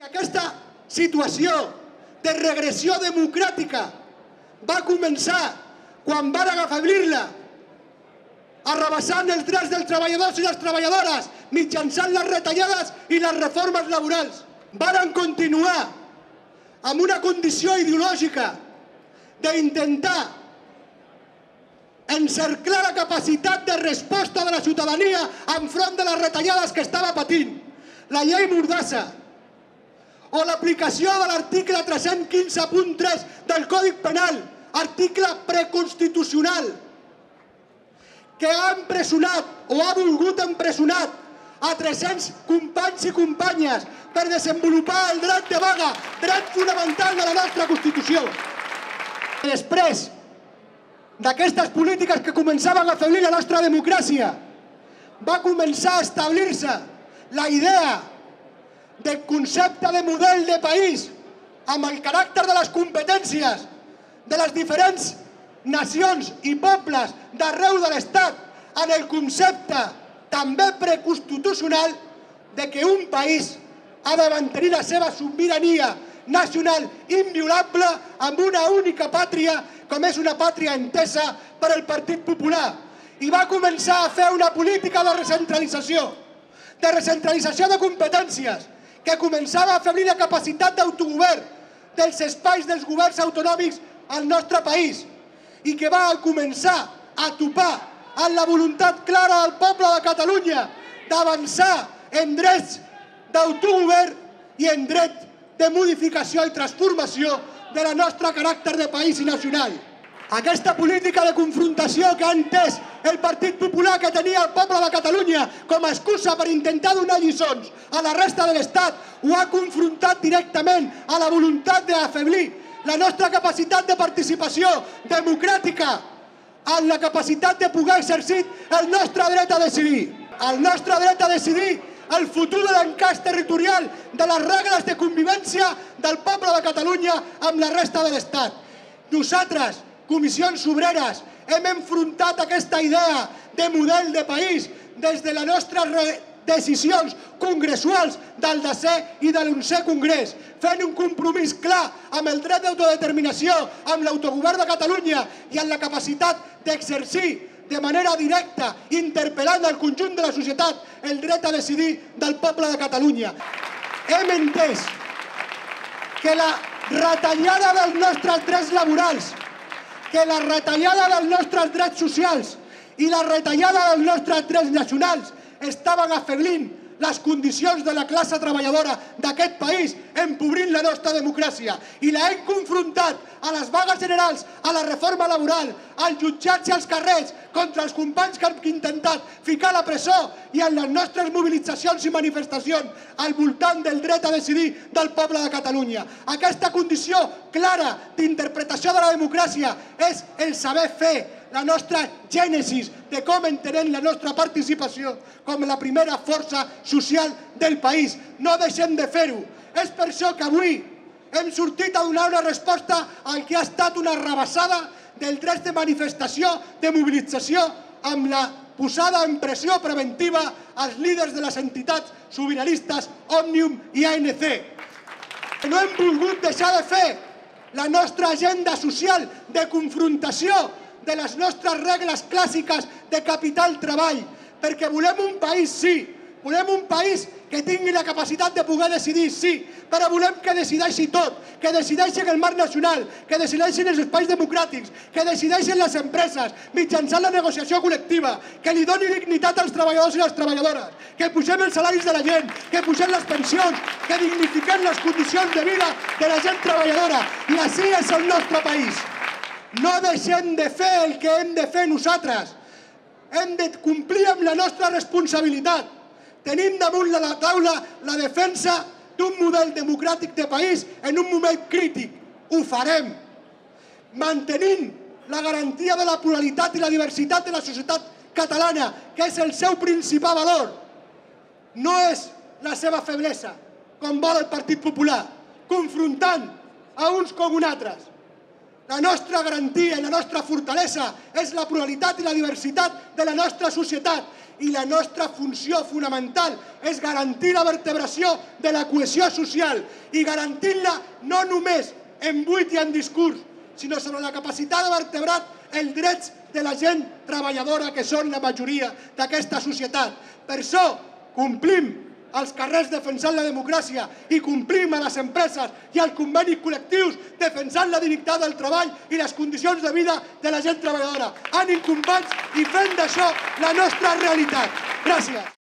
Aquesta situació de regressió democràtica va començar quan van afeblir-la, arrabassant els drets dels treballadors i les treballadores mitjançant les retallades i les reformes laborals. Van continuar amb una condició ideològica d'intentar encerclar la capacitat de resposta de la ciutadania enfront de les retallades que estava patint. La llei Mordassa o l'aplicació de l'article 315.3 del Codi Penal, article preconstitucional, que ha empresonat o ha volgut empresonar a 300 companys i companyes per desenvolupar el dret de vaga, dret fonamental de la nostra Constitució. Després d'aquestes polítiques que començaven a afeblir la nostra democràcia, va començar a establir-se la idea del concepte de model de país amb el caràcter de les competències de les diferents nacions i pobles d'arreu de l'Estat en el concepte també preconstitucional de que un país ha de mantenir la seva sobirania nacional inviolable amb una única pàtria com és una pàtria entesa per al Partit Popular. I va començar a fer una política de recentralització de competències que començava a afeblir la capacitat d'autogovern dels espais dels governs autonòmics al nostre país i que va començar a topar amb la voluntat clara del poble de Catalunya d'avançar en drets d'autogovern i en dret de modificació i transformació de la nostra caràcter de país i nacional. Aquesta política de confrontació que ha entès el Partit Popular que tenia el poble de Catalunya com a excusa per intentar donar lliçons a la resta de l'Estat ho ha confrontat directament a la voluntat d'afeblir la nostra capacitat de participació democràtica en la capacitat de poder exercir el nostre dret a decidir. El nostre dret a decidir el futur de l'encaix territorial de les regles de convivència del poble de Catalunya amb la resta de l'Estat. Nosaltres, Comissions Obreres, hem enfrontat aquesta idea de model de país des de les nostres decisions congressuals del 10è i de l'11è Congrés, fent un compromís clar amb el dret d'autodeterminació, amb l'autogovern de Catalunya i amb la capacitat d'exercir de manera directa, interpel·lant al conjunt de la societat, el dret a decidir del poble de Catalunya. Hem entès que la retallada dels nostres drets laborals, que la retallada dels nostres drets socials i la retallada dels nostres drets nacionals estaven afeblint les condicions de la classe treballadora d'aquest país, empobrint la nostra democràcia. I la hem confrontat a les vagues generals, a la reforma laboral, als jutjats i als carrers, contra els companys que han intentat ficar a la presó i en les nostres mobilitzacions i manifestacions al voltant del dret a decidir del poble de Catalunya. Aquesta condició clara d'interpretació de la democràcia és el saber fer, la nostra gènesis de com entenem la nostra participació com la primera força social del país. No deixem de fer-ho. És per això que avui hem sortit a donar una resposta al que ha estat una rebassada del dret de manifestació, de mobilització, amb la posada en pressió preventiva als líders de les entitats sobiranistes Òmnium i ANC. No hem volgut deixar de fer la nostra agenda social de confrontació de les nostres regles clàssiques de capital-treball, perquè volem un país, sí, volem un país que tingui la capacitat de poder decidir, sí, però volem que decideixi tot, que decideixi en el marc nacional, que decideixi en els espais democràtics, que decideixi en les empreses, mitjançant la negociació col·lectiva, que li doni dignitat als treballadors i les treballadores, que pugem els salaris de la gent, que pugem les pensions, que dignifiquem les condicions de vida de la gent treballadora. I així és el nostre país. No deixem de fer el que hem de fer nosaltres. Hem de complir amb la nostra responsabilitat. Tenim damunt la taula la defensa d'un model democràtic de país en un moment crític. Ho farem. Mantenint la garantia de la pluralitat i la diversitat de la societat catalana, que és el seu principal valor. No és la seva feblesa, com vol el Partit Popular, confrontant a uns com uns altres. La nostra garantia i la nostra fortalesa és la pluralitat i la diversitat de la nostra societat i la nostra funció fonamental és garantir la vertebració de la cohesió social i garantint-la no només en buit i en discurs, sinó sobre la capacitat de vertebrar els drets de la gent treballadora que són la majoria d'aquesta societat. Per això complim als carrers defensant la democràcia i complim a les empreses i als convenis col·lectius defensant la dignitat del treball i les condicions de vida de la gent treballadora. Ànim, companys, i fem d'això la nostra realitat. Gràcies.